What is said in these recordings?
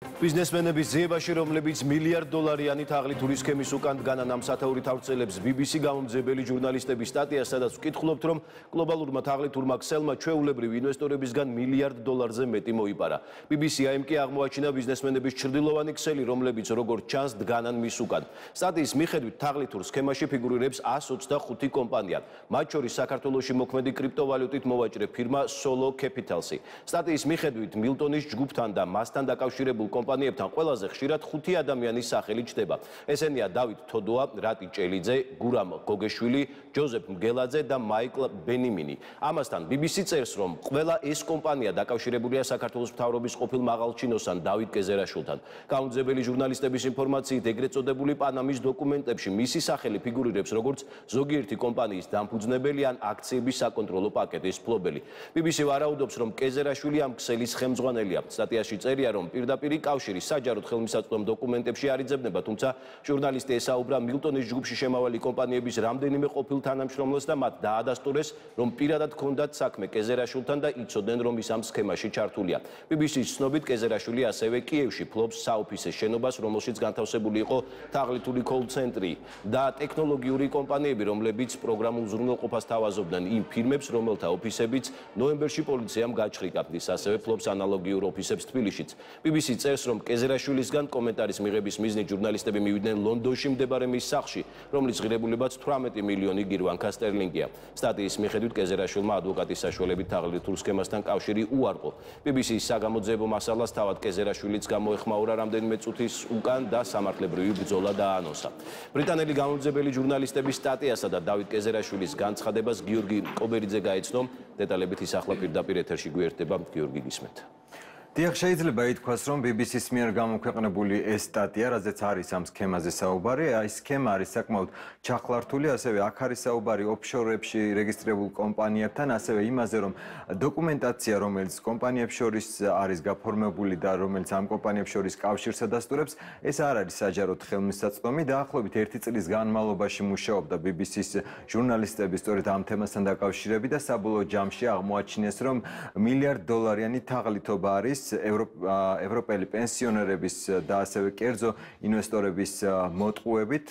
Biznesmenების ძიებაში, რომლებიც $1,000,000-იანი თაღლითური სქემის უკან დგანან ამ სათაურით ავრცელებს BBC გამომძებელი ჟურნალისტების სტატია, სადაც ვკითხულობთ, რომ გლობალურმა თაღლითურმა ქსელმა ჩვეულებრივ ინვესტორებისგან $1,000,000-ზე მეტი მოიპარა. BBC AM კი აღმოაჩინა ბიზნესმენების ჩრდილოვანი ქსელი, რომლებიც როგორც ჩანს დგანან მის უკან. სტატიის მიხედვით თაღლითურ სქემაში ფიგურირებს 125 კომპანია, მათ შორის საქართველოში მოქმედი კრიპტოვალიუტით მოვაჭრე ფირმა Solo Capital-ი. სტატიის მიხედვით მილტონის ჯგუფთან და მასთან დაკავშირებულ კომპანიებთან ყველაზე ხშირად 5 ადამიანის სახელი ჩნდება. ესენია დავით თოდოა, რატი ჭელიძე, გურამ გოგეშვილი, ჯოზეფ მგელაძე და მაიკლ ბენიმინი. ამასთან BBC წერს, რომ ყველა ეს კომპანია დაკავშირებულია საქართველოს მთავრობის ყოფილ მაღალჩინოსან დავით კეზერაშვილთან. გამომძებელი ჟურნალისტების ინფორმაციით, ეგრეთ წოდებული პანამის დოკუმენტებში მისი სახელი ფიგურირებს როგორც ზოგიერთი კომპანიის დამფუძნებელი ან აქციების საკონტროლო პაკეტის მფლობელი. BBC ვარაუდობს, რომ კეზერაშვილი ამ ქსელის ხელმძღვანელია. სტატიაში წერია, რომ პირდაპირ კავშირი საჯაროდ ხელმისაწვდომ დოკუმენტებში არ იძებნება, თუმცა ჟურნალისტი ესაუბრა მილტონის ჯგუფში შემავალი კომპანიების რამდენიმე ყოფილ თანამშრომლებს და მათ დაადასტურეს, რომ პირადად ჰქონდათ საქმე კეზერაშვილთან და იცოდნენ, რომ ის ამ სქემაში ჩართულია. BBC-ს ცნობით, კეზერაშვილი ასევე კიევში ფლობს საოფისე შენობას, რომელშიც განთავსებული იყო თაღლითური კოლ-ცენტრი და ტექნოლოგიური კომპანიები, რომლებიც პროგრამულ ზრუნველყოფას თავაზობდნენ იმ ფირმებს, რომელთა ოფისებიც ნოემბერში პოლიციამ გაჩხრიკა. ის ასევე ფლობს ანალოგიურ ოფისებს თბილისშიც. BBC წერს, რომ კეზერაშვილისგან კომენტარის მიღების მიზნით ჟურნალისტები მივიდნენ ლონდონში მდებარე მის სახლში, რომლის ღირებულებაც 18 მილიონი გირვანკა სტერლინგია. სტატიის მიხედვით, კეზერაშვილმა ადვოკატის საშუალებით თაღლითურ სქემასთან კავშირი უარყო. BBC-ის საგამოძიებო მასალას თავად კეზერაშვილიც გამოეხმაურა რამდენიმე წუთის უკან და სამართლებრივი ბრძოლა დაანონსა. ბრიტანელი გამომძებელი ჟურნალისტების სტატიასა და დავით კეზერაშვილის განცხადებას გიორგი კობერიძე გაეცნო. დეტალებით ის ახლა პირდაპირ ეთერში გვერდება. გიორგი, გისმენთ. დიახ, შეიძლება ითქვას, რომ BBC-ს მიერ გამოქვეყნებული ეს სტატია, რაზეც არის ამ სქემაზე საუბარი, ეს სქემა არის საკმაოდ ჩახლართული, ასევე აქ არის საუბარი ოფშორებში რეგისტრირებულ კომპანიებთან, ასევე იმაზე, რომ დოკუმენტაცია, რომელიც კომპანიებს შორის არის გაფორმებული და რომელიც ამ კომპანიებს შორის კავშირს ადასტურებს, ეს არ არის საჯაროდ ხელმისაწვდომი. დაახლოებით 1 წლის განმავლობაში მუშაობდა BBC-ს ჟურნალისტები სწორედ ამ თემასთან დაკავშირებით და საბოლოო ჯამში აღმოაჩინეს, რომ $1,000,000-იანი თაღლითობა არის ევროპელი პენსიონერების და ასევე კერძო ინვესტორების მოტყუებით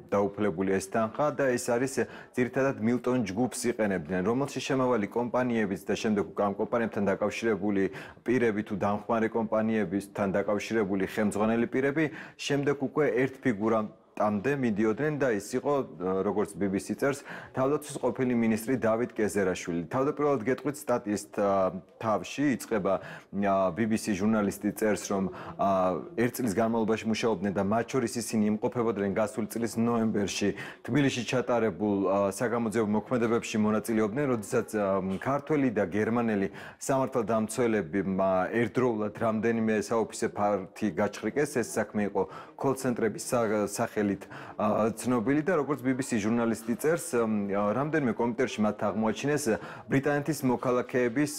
დაუფლებული ეს თანხა და ეს არის ძირითადად მილტონ ჯგუფს იყენებდნენ, რომელშიც შემავალი კომპანიებიც და შემდეგ ამ კომპანიებთან დაკავშირებული პირები თუ დამხმარე კომპანიებთან დაკავშირებული ხელმძღვანელი პირები შემდეგ უკვე ერთ ფიგურამდე მიდიოდნენ და ის იყო, როგორც BBC წერს, თავდაცვის ყოფილი მინისტრი დავით კეზერაშვილი. თავდაპირველად გეტყვით სტატიის თავში იწყება BBC ჟურნალისტი წერს, რომ 1 წლის განმავლობაში მუშაობდნენ და მათ შორის ისინი იმყოფებოდნენ გასული წლის ნოემბერში თბილისში ჩატარებულ საგამოძიებო მოქმედებებში მონაწილეობდნენ, როდესაც ქართველი და გერმანელი სამართალდამცველები ერთდროულად რამდენიმე საოფისე ფართი გაჩხრიკეს. ეს საქმე იყო კოლ-ცენტრების სახელით ცნობილი და როგორც BBC ჟურნალისტი წერს, რამდენიმე კომპიუტერში მათ აღმოაჩინეს ბრიტანეთის მოქალაქეების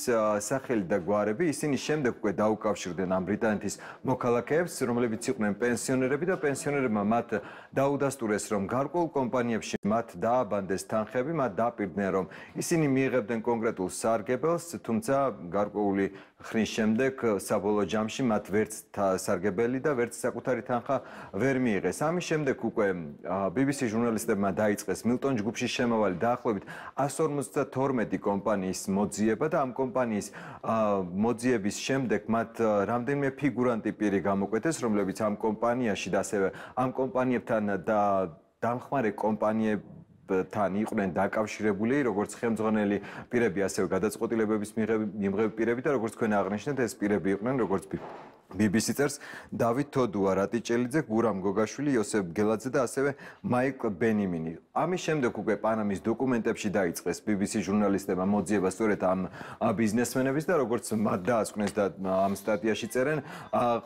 სახელი და გვარები. ისინი შემდეგ უკვე დაუკავშირდნენ ამ ბრიტანეთის მოქალაქეებს, რომლებიც იყვნენ პენსიონერები და პენსიონერებმა მათ დაუდასტურეს, რომ გარკვეულ კომპანიებში მათ დააბანდეს თანხები, მათ დაპირდნენ, რომ ისინი მიიღებდნენ კონკრეტულ სარგებელს, თუმცა გარკვეული ხნის შემდეგ საბოლოო ჯამში მათ ვერც სარგებელი და ვერც საკუთარი თანხა ვერ მიიღეს. ამის შემდეგ უკვე BBC ჟურნალისტებმა დაიწყეს მილტონ ჯგუფში შემავალი დაახლოებით 152 კომპანიის მოძიება და ამ კომპანიის მოძიების შემდეგ მათ რამდენიმე ფიგურანტი პირი გამოკვეთეს, რომლებიც ამ კომპანიაში და ასევე ამ კომპანიებთან და დამხმარე კომპანიებთან იყვნენ დაკავშირებული, როგორც ხელმძღვანელი პირები, ასევე გადაწყვეტილებების მიღები პირები და როგორც თქვენ აღნიშნეთ, ეს პირები იყვნენ, როგორც BBC წერს, დავით თოდოა, რატი ჭელიძე, გურამ გოგაშვილი, იოსებ გელაძე და ასევე მაიკლ ბენიმინი. ამის შემდეგ უკვე პანამის დოკუმენტებში დაიწყეს BBC ჟურნალისტებმა მოძიება სწორედ ამ ბიზნესმენების და როგორც მათ დაასკვნეს და ამ სტატიაში წერენ,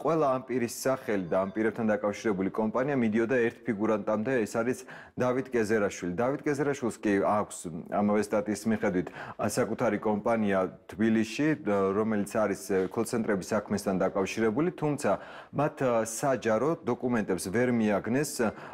ყველა ამ პირის სახელი და ამ პირებთან დაკავშირებული კომპანია მიდიოდა ერთ ფიგურანტამდე, ეს არის დავით კეზერაშვილი. დავით კეზერაშვილს კი აქვს ამავე სტატიის მიხედვით საკუთარი კომპანია თბილისში, რომელიც არის კოლ-ცენტრების საქმესთან დაკავშირებული მიღებული, თუმცა მათ საჯარო დოკუმენტებს ვერ მიაგნეს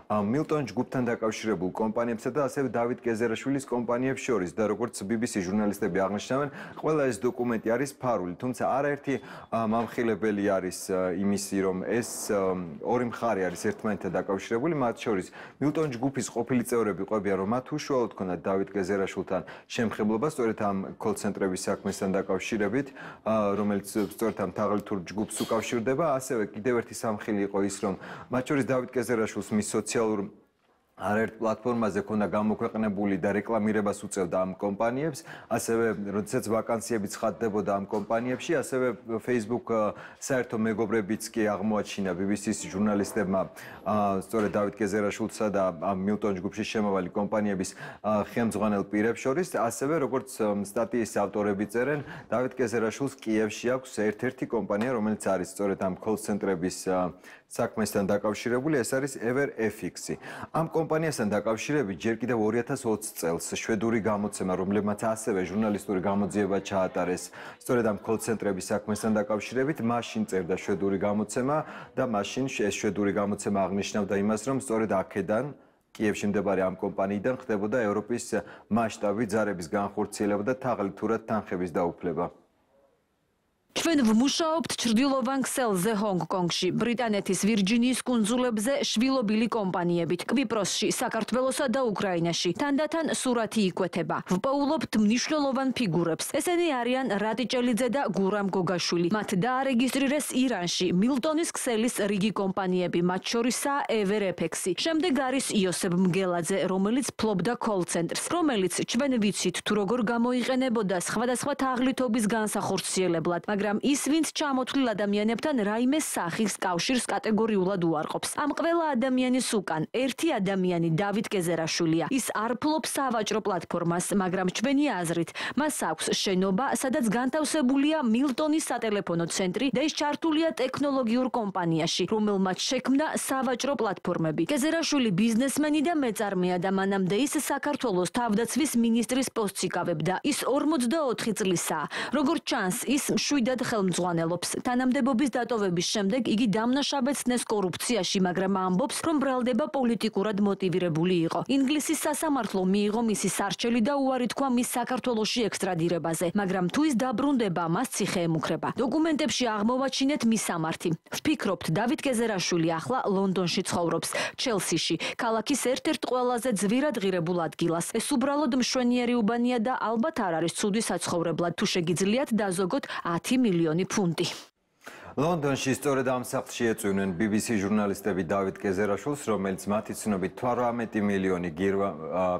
მილტონ ჯგუფთან დაკავშირებულ კომპანიებსა და ასევე დავით გეზერაშვილის კომპანიებს შორის და როგორც BBC ჟურნალისტები აღნიშნავენ, ყველა ეს დოკუმენტი არის ფარული, თუმცა არაერთი მამხილებელი არის იმისი, რომ ეს ორი მხარე არის ერთმანეთთან დაკავშირებული, მათ შორის მილტონ ჯგუფის ყოფილი წევრები ყვებიან, რომ მათ უშუალოდ ჰქონდათ დავით გეზერაშვილთან შემხებლობა სწორედ ამ კოლ-ცენტრების საქმესთან დაკავშირებით, რომელიც სწორედ ამ თაღლითურ ჯგუფს უკავშირდება, ასევე კიდევ ერთი სამხილი იყო ის, რომ მათ შორის დავით გეზერაშვილს მის სოციალურ არაერთ პლატფორმაზე ქონდა გამოქვეყნებული და რეკლამირებას უწევდა ამ კომპანიებს, ასევე როდესაც ვაკანსიები ცხადდებოდა ამ კომპანიებში, ასევე Facebook საერთო მეგობრებიც კი აღმოაჩინა BBC-ს ჟურნალისტებმა სწორედ დავით გეზერაშვილსა და მილტონ ჯგუფში შემავალი კომპანიების ხელმძღვანელ პირებს შორის, ასევე როგორც სტატიის ავტორები წერენ, დავით გეზერაშვილს კიევში აქვს ერთ-ერთი კომპანია, რომელიც არის სწორედ ამ კოლ-ცენტრების საქმესთან დაკავშირებული, ეს არის EverFX-ი. ამ კომპანიასთან დაკავშირებით ჯერ კიდევ 2020 წელს შვედური გამოცემა, რომლებმაც ასევე ჟურნალისტური გამოძიება ჩაატარეს სწორედ ამ კოლ-ცენტრების საქმესთან დაკავშირებით, მაშინ წერდა შვედური გამოცემა და მაშინ ეს შვედური გამოცემა აღნიშნავდა იმას, რომ სწორედ აქედან კიევში მდებარე ამ კომპანიიდან ხდებოდა ევროპის მასშტაბით ზარების განხორციელება და თაღლითურად თანხების დაუფლება. ჩვენ ვმუშაობთ ჩრდილოვან ქსელზე ჰონგ-კონგში, ბრიტანეთის ვირჯინიის კუნძულებზე შვილობილი კომპანიებით, კვიპროსში, საქართველოსა და უკრაინაში. თანდათან სურათი იკვეთება. ვპოულობთ მნიშვნელოვან ფიგურებს. ესენი არიან რატიჭელიძე და გურამ გოგაშვილი. მათ დაარეგისტრირეს ირანში, მილტონის ქსელის რიგი კომპანიები, მათ შორისაა EverFX-ი. შემდეგ არის იოსებ მგელაძე, რომელიც ფლობდა კოლ-ცენტრს, რომელიც ჩვენ ვიცით თუ როგორ გამოიყენებოდა სხვადასხვა თაღლითობის განსახორციელებლად, მაგრამ ის, ვინც ჩამოთვლილ ადამიანებთან რაიმე სახის კავშირს კატეგორიულად უარყოფს. ამ ყველა ადამიანის უკან ერთი ადამიანი დავით გეზერაშვილია. ის არ ფლობს სავაჭრო პლატფორმას, მაგრამ ჩვენი აზრით, მას აქვს შენობა, სადაც განთავსებულია მილტონის სატელეფონო ცენტრი და ის ჩართულია ტექნოლოგიურ კომპანიაში, რომელმაც შექმნა სავაჭრო პლატფორმები. გეზერაშვილი ბიზნესმენი და მეწარმეა და მანამდე ის საქართველოს თავდაცვის მინისტრის პოსტს იკავებდა. ის 44 წლისაა. როგორც ჩანს, ის მშვიდად ხელმძღვანელობს. თანამდებობის დატოვების შემდეგ იგი დამნაშავედ ცნეს კორუფციაში, მაგრამ ამბობს, რომ ბრალდება პოლიტიკურად მოტივირებული იყო. ინგლისის სასამართლო მიიღო მისი სარჩელი და უარი თქვა მის საქართველოში ექსტრადირებაზე, მაგრამ თუ ის დაბრუნდება, მას ციხე ემუქრება. დოკუმენტებში აღმოვაჩინეთ მის სამართი. ვფიქრობთ, დავით გეზერაშვილი ახლა ლონდონში ცხოვრობს, ჩელსიში, ქალაქის ერთ-ერთ ყველაზე ძვირად ღირებულ ადგილას. ეს უბრალოდ მშვენიერი უბანია და ალბათ არ არის ცუდი საცხოვრებლად, თუ შეგიძლიათ დაზოგოთ 10 მილიონი ფუნტი. ლონდონში სწორედ ამ სახლში ეწვივნენ BBC ჟურნალისტები დავით გეზერაშვილს, რომელიც მათი ცნობით 18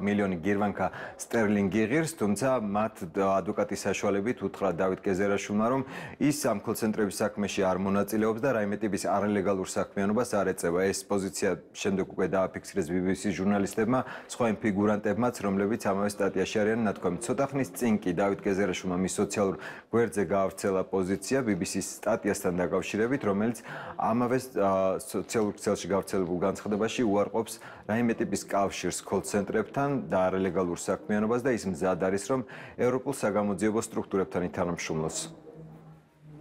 მილიონი გირვანკა სტერლინგი იღებს, თუმცა მათ ადვოკატის საშუალებით უთხრა დავით გეზერაშვილმა, რომ ის ამ კოლ-ცენტრების საქმეში არ მონაწილეობს და რაიმე ტიპის არალეგალურ საქმიანობას არ ეწევა. ეს პოზიცია შემდეგ უკვე დააფიქსირეს BBC ჟურნალისტებმა, სხვა იმ ფიგურანტებმაც, რომლებიც ამავე სტატიაში არიან ნათქვამი. ცოტა ხნის წინ კი დავით გეზერაშვილმა მის სოციალურ გვერდზე გაავრცელა პოზიცია BBC-ის სტატიასთან დაკავშირებით, რომელიც ამავე სოციალურ ქსელში გავრცელებულ განცხადებაში უარყოფს რაიმე ტიპის კავშირს კოლ-ცენტრებთან და არალეგალურ საქმიანობას და ის მზად არის, რომ ევროპულ საგამოძიებო სტრუქტურებთან ითანამშრომლოს.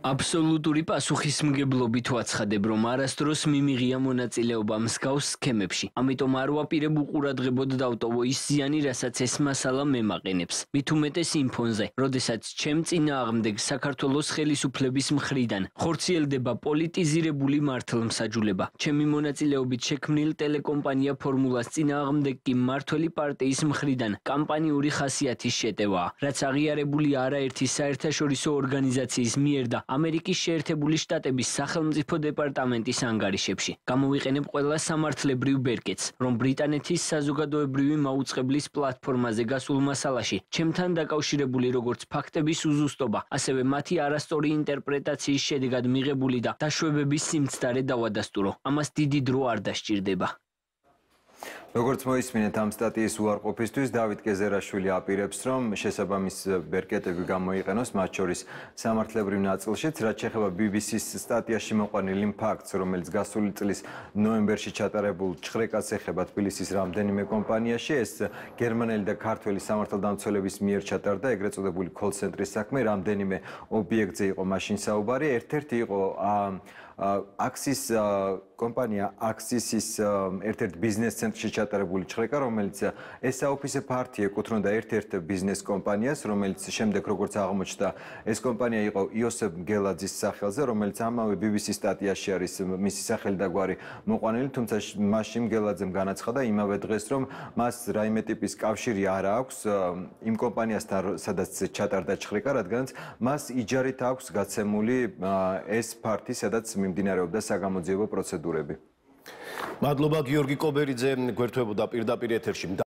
აბსოლუტური პასუხისმგებლობით ვაცხადებ, რომ არასდროს მიმიღია მონაწილეობა მსგავს სქემებში. ამიტომ არ ვაპირებ უყურადღებოდ დავტოვო ის ზიანი, რასაც ეს მასალა მემაყენებს. მით უმეტეს იმ ფონზე, როდესაც ჩემ წინააღმდეგ საქართველოს ხელისუფლების მხრიდან ხორციელდება პოლიტიზირებული მართლმსაჯულება. ჩემი მონაწილეობით შექმნილ ტელეკომპანია ფორმულას წინააღმდეგ კი მმართველი პარტიის მხრიდან კამპანიური ხასიათის შეტევაა, რაც აღიარებული არაერთი საერთაშორისო ორგანიზაციის მიერ და ამერიკის შეერთებული შტატების სახელმწიფო დეპარტამენტის ანგარიშებში. გამოვიყენებ ყველა სამართლებრივ ბერკეტს, რომ ბრიტანეთის საზოგადოებრივი მაუწყებლის პლატფორმაზე გასულ მასალაში ჩემთან დაკავშირებული როგორც ფაქტების უზუსტობა, ასევე მათი არასწორი ინტერპრეტაციის შედეგად მიღებული და დაშვებების სიმცდარე დავადასტურო. ამას დიდი დრო არ დასჭირდება. როგორც მოისმინეთ ამ სტატიის უარყოფისთვის დავით გეზერაშვილი აპირებს, რომ შესაბამის ბერკეტები გამოიყენოს, მათ შორის სამართლებრივ ნაწილშიც, რაც შეეხება BBC-ს სტატიაში მოყვანილ იმ ფაქტს, რომელიც გასული წლის ნოემბერში ჩატარებულ ჭხრეკას ეხება თბილისის რამდენიმე კომპანიაში, ეს გერმანელი და ქართველი სამართალდამცველების მიერ ჩატარდა ეგრეთ წოდებული კოლ-ცენტრის საქმე, რამდენიმე ობიექტზე იყო მაშინ საუბარი, ერთ-ერთი იყო აქსის კომპანია აქსისის ერთ-ერთ ბიზნეს ცენტრში ჩატარებული ჭხრეკა, რომელიც ესაოფისე ფართი ეკუთვნოდა ერთ-ერთ ბიზნეს კომპანიას, რომელიც შემდეგ როგორც აღმოჩნდა, ეს კომპანია იყო იოსებ გელაძის სახელზე, რომელიც ამავე BBC სტატიაში არის მისი სახელი და გვარი მოყვანილი, თუმცა მაშინ გელაძემ განაცხადა იმავე დღეს, რომ მას რაიმე ტიპის კავშირი არ აქვს იმ კომპანიასთან, სადაც ჩატარდა ჭხრეკა, რადგანაც მას იჯარით აქვს გაცემული ეს ფართი, სადაც მიმდინარეობდა საგამოძიებო პროცედურები. მადლობა გიორგი კობერიძე, გვერდთვებოდა პირდაპირ ეთერში.